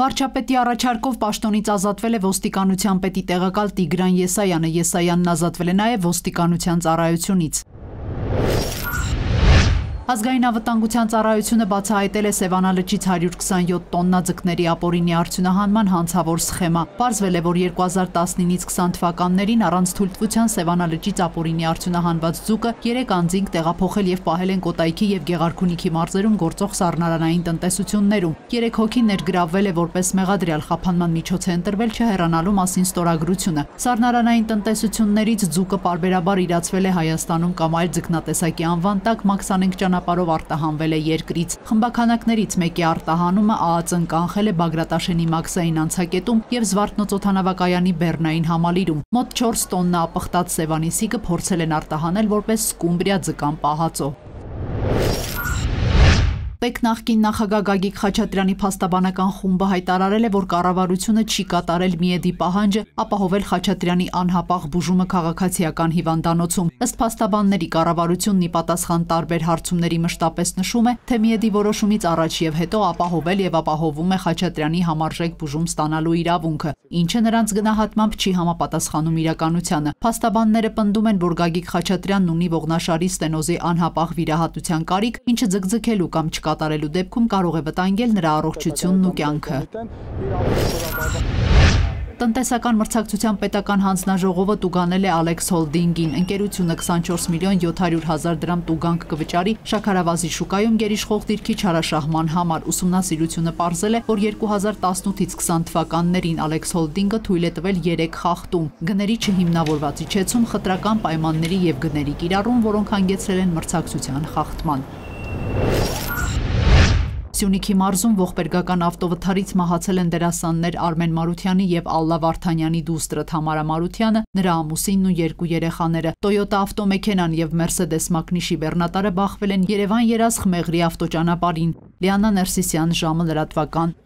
Վարչապետի առաջարկով պաշտոնից ազատվել է ոստիկանության պետի տեղակալ Տիգրան Եսայանը, Եսայանն ազատվել է նաև ոստիկանության ծառայությունից։ Ազգային անվտանգության ծառայությունը բացահայտել է Սևանա լճից 127 տոննա ձկների ապօրինի արդյունահանման հանցավոր սխեմա։ Պարզվել է, որ 2019-ից 20 թվականներին առանց թույլտվության Սևանա լճից ապօրինի արդյունահանված ձուկը 3 անձինք տեղափոխել եւ պահել են Կոտայքի եւ Գեղարքունիքի մարզերում գործող սառնարանային տնտեսություններում։ 3 հոգի ներգրավվել է որպես մեղադրյալ, խափանման միջոց է ընտրվել չհեռանալու մասին ստորագրությունը։ Սառնարանային տնտեսություններից ձուկը պարբերաբար իրացվել է Հայաստանում կամ այլ ձկնատեսակի անվան տակ մաքսանենգ ճանապարհով արտահանվել է երկրից։ Խմբաքանակներից մեկի արտահանումը ԱԱԾ-ն կանխել է Բագրատաշենի մաքսային անցակետում եւ Զվարթնոց օդանավակայանի Բեռնային համալիրում։ Մոտ 4 տոննա ապխտած Սևանի սիկը փորձել են արտահանել որպես սկումբրիա ձկան պահածո։ ՊԵԿ նախկին նախագահ Գագիկ Խաչատրյանի փաստաբանական խումբը հայտարարել է, որ կառավարությունը չի կատարել Միեդի պահանջը ապահովել Խաչատրյանի անհապաղ բուժումը քաղաքացիական հիվանդանոցում։ Ըստ փաստաբանների, կառավարությունն ի պատասխան տարբեր հարցումների մշտապես նշում է, թե Միեդի որոշումից առաջ եւ հետո ապահովել եւ ապահովում է Խաչատրյանի համարժեք բուժում ստանալու իրավունքը, ինչը նրանց գնահատմամբ չի համապատասխանում իրականությանը։ Փաստաբանները պնդում են, որ Գագիկ Խաչատրյանն ունի ողնաշարի ստենոզի անհապաղ վիրահատության կարիք, ինչը ձգձգելու կամ չկատարելու դեպքում կարող է վտանգել նրա առողջությունն ու կյանքը։ Տնտեսական մրցակցության պետական հանձնաժողովը տուգանել է Ալեքս Հոլդինգին։ Ընկերությունը 24 միլիոն 700 հազար դրամ տուգանք կվճարի շաքարավազի շուկայում գերիշխող դիրքի չարաշահման համար։ Ուսումնասիրությունը պարզել է, որ 2018-ից 20 թվականներին Ալեքս Հոլդինգը թույլ է տվել 3 խախտում՝ գների չհիմնավորված իջեցում, խտրական պայմանների եւ գների կիրառում, որոնք հանգեցրել են մրցակցության խախտման։ Սյունիքի մարզում ողբերգական ավտովթարից մահացել են դերասաններ Արմեն Մարությանի եւ Ալլա Վարդանյանի դուստրը Թամարա Մարությանը, նրա ամուսինն ու 2 երեխաները։ Toyota ավտոմեքենան եւ Mercedes մակնիշի բեռնատարը բախվել են Երևան-Երազխ Մեղրի ավտոճանապարհին։ Լիանա Ներսիսյան, ժամը լրատվական։